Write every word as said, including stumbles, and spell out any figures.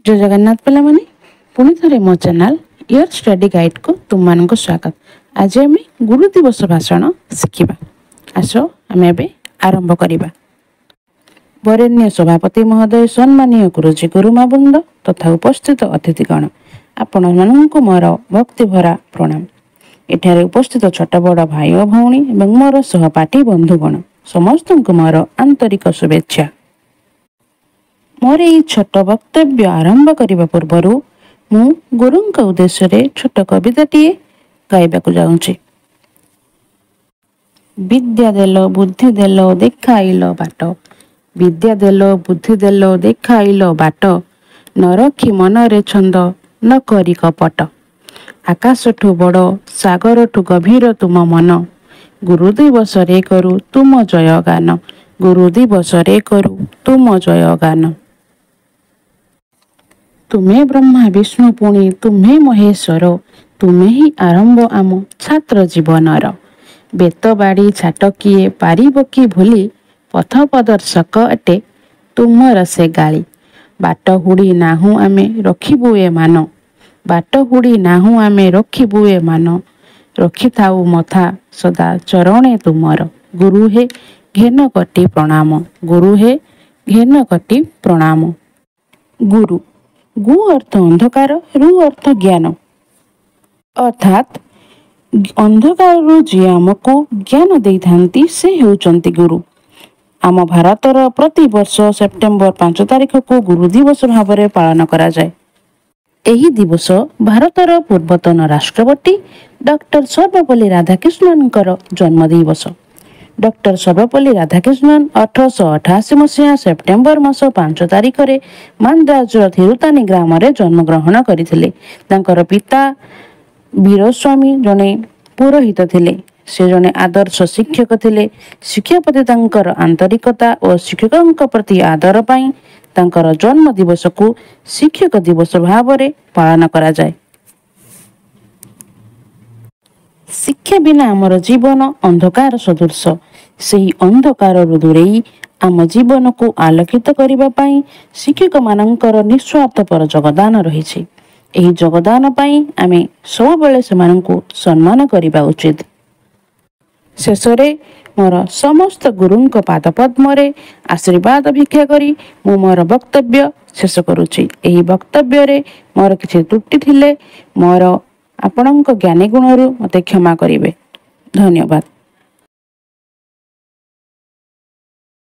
ଜୟ ଜଗନ୍ନାଥ ପିଲାମାନେ, ପୁଣି ଥରେ ମୋ ଚ୍ୟାନେଲ୍ ଇୟର ଷ୍ଟଡି ଗାଇଡ଼କୁ ତୁମମାନଙ୍କୁ ସ୍ୱାଗତ। ଆଜି ଆମେ ଗୁରୁ ଦିବସ ଭାଷଣ ଶିଖିବା। ଆସ, ଆମେ ଏବେ ଆରମ୍ଭ କରିବା। ବରେଣ୍ୟ ସଭାପତି ମହୋଦୟ, ସମ୍ମାନୀୟ ଗୁରୁଜୀ ଗୁରୁମା ବୃନ୍ଦ ତଥା ଉପସ୍ଥିତ ଅତିଥିଗଣ, ଆପଣମାନଙ୍କୁ ମୋର ଭକ୍ତିଭରା ପ୍ରଣାମ। ଏଠାରେ ଉପସ୍ଥିତ ଛୋଟ ବଡ଼ ଭାଇ ଓ ଭଉଣୀ ଏବଂ ମୋର ସହପାଠୀ ବନ୍ଧୁଗଣ, ସମସ୍ତଙ୍କୁ ମୋର ଆନ୍ତରିକ ଶୁଭେଚ୍ଛା। ମୋର ଏଇ ଛୋଟ ବକ୍ତବ୍ୟ ଆରମ୍ଭ କରିବା ପୂର୍ବରୁ ମୁଁ ଗୁରୁଙ୍କ ଉଦ୍ଦେଶ୍ୟରେ ଛୋଟ କବିତାଟିଏ ଗାଇବାକୁ ଯାଉଛି। ବିଦ୍ୟା ଦେଲ, ବୁଦ୍ଧି ଦେଲ, ଦେଖାଇଲ ବାଟ। ବିଦ୍ୟା ଦେଲ, ବୁଦ୍ଧି ଦେଲ, ଦେଖାଇଲ ବାଟ। ନ ରଖି ମନରେ ଛନ୍ଦ, ନ କରି କପଟ। ଆକାଶଠୁ ବଡ଼, ସାଗରଠୁ ଗଭୀର ତୁମ ମନ। ଗୁରୁ ଦିବସରେ କରୁ ତୁମ ଜୟ ଗାନ। ଗୁରୁ ଦିବସରେ କରୁ ତୁମ ଜୟ ଗାନ। ତୁମେ ବ୍ରହ୍ମା, ବିଷ୍ଣୁ, ପୁଣି ତୁମେ ମହେଶ୍ୱର। ତୁମେ ହିଁ ଆରମ୍ଭ ଆମ ଛାତ୍ର ଜୀବନର। ବେତ ବାଡ଼ି ଛାଟ କିଏ ପାରିବ କି ଭୁଲି? ପଥ ପ୍ରଦର୍ଶକ ଅଟେ ତୁମର ସେ ଗାଳି। ବାଟ ହୁଡ଼ି ନାହୁଁ ଆମେ, ରଖିବୁ ଏ ମାନ। ବାଟ ହୁଡ଼ି ନାହୁଁ ଆମେ, ରଖିବୁ ଏ ମାନ। ରଖିଥାଉ ମଥା ସଦା ଚରଣେ ତୁମର। ଗୁରୁ ହେ, ଘେନ କୋଟି ପ୍ରଣାମ। ଗୁରୁ ହେ, ଘେନ କୋଟି ପ୍ରଣାମ। ଗୁରୁ, ଗୁ ଅର୍ଥ ଅନ୍ଧକାର, ରୁ ଅର୍ଥ ଜ୍ଞାନ। ଅର୍ଥାତ୍ ଅନ୍ଧକାରରୁ ଯିଏ ଆମକୁ ଜ୍ଞାନ ଦେଇଥାନ୍ତି, ସେ ହେଉଛନ୍ତି ଗୁରୁ। ଆମ ଭାରତର ପ୍ରତିବର୍ଷ ସେପ୍ଟେମ୍ବର ପାଞ୍ଚ ତାରିଖକୁ ଗୁରୁ ଦିବସ ଭାବରେ ପାଳନ କରାଯାଏ। ଏହି ଦିବସ ଭାରତର ପୂର୍ବତନ ରାଷ୍ଟ୍ରପତି ଡକ୍ଟର ସର୍ବପଲ୍ଲୀ ରାଧାକୃଷ୍ଣନଙ୍କର ଜନ୍ମ ଦିବସ। ଡକ୍ଟର ସର୍ବପଲ୍ଲୀ ରାଧାକୃଷ୍ଣନ ଅଠରଶହ ଅଠାଅଶୀ ମସିହା ସେପ୍ଟେମ୍ବର ମାସ ପାଞ୍ଚ ତାରିଖରେ ମାନ୍ଦ୍ରାଜର ଥିରୁତାନି ଗ୍ରାମରେ ଜନ୍ମଗ୍ରହଣ କରିଥିଲେ। ତାଙ୍କର ପିତା ବୀରସ୍ୱାମୀ ଜଣେ ପୁରୋହିତ ଥିଲେ। ସେ ଜଣେ ଆଦର୍ଶ ଶିକ୍ଷକ ଥିଲେ। ଶିକ୍ଷା ପ୍ରତି ତାଙ୍କର ଆନ୍ତରିକତା ଓ ଶିକ୍ଷକଙ୍କ ପ୍ରତି ଆଦର ପାଇଁ ତାଙ୍କର ଜନ୍ମ ଦିବସକୁ ଶିକ୍ଷକ ଦିବସ ଭାବରେ ପାଳନ କରାଯାଏ। ଶିକ୍ଷା ବିନା ଆମର ଜୀବନ ଅନ୍ଧକାର ସଦୃଶ। ସେହି ଅନ୍ଧକାରରୁ ଦୂରେଇ ଆମ ଜୀବନକୁ ଆଲୋକିତ କରିବା ପାଇଁ ଶିକ୍ଷକମାନଙ୍କର ନିଃସ୍ୱାର୍ଥପର ଯୋଗଦାନ ରହିଛି। ଏହି ଯୋଗଦାନ ପାଇଁ ଆମେ ସବୁବେଳେ ସେମାନଙ୍କୁ ସମ୍ମାନ କରିବା ଉଚିତ। ଶେଷରେ ମୋର ସମସ୍ତ ଗୁରୁଙ୍କ ପାଦପଦ୍ମରେ ଆଶୀର୍ବାଦ ଭିକ୍ଷା କରି ମୁଁ ମୋର ବକ୍ତବ୍ୟ ଶେଷ କରୁଛି। ଏହି ବକ୍ତବ୍ୟରେ ମୋର କିଛି ତ୍ରୁଟି ଥିଲେ ମୋର ଆପଣଙ୍କ ଜ୍ଞାନୀ ଗୁଣରୁ ମୋତେ କ୍ଷମା କରିବେ। ଧନ୍ୟବାଦ।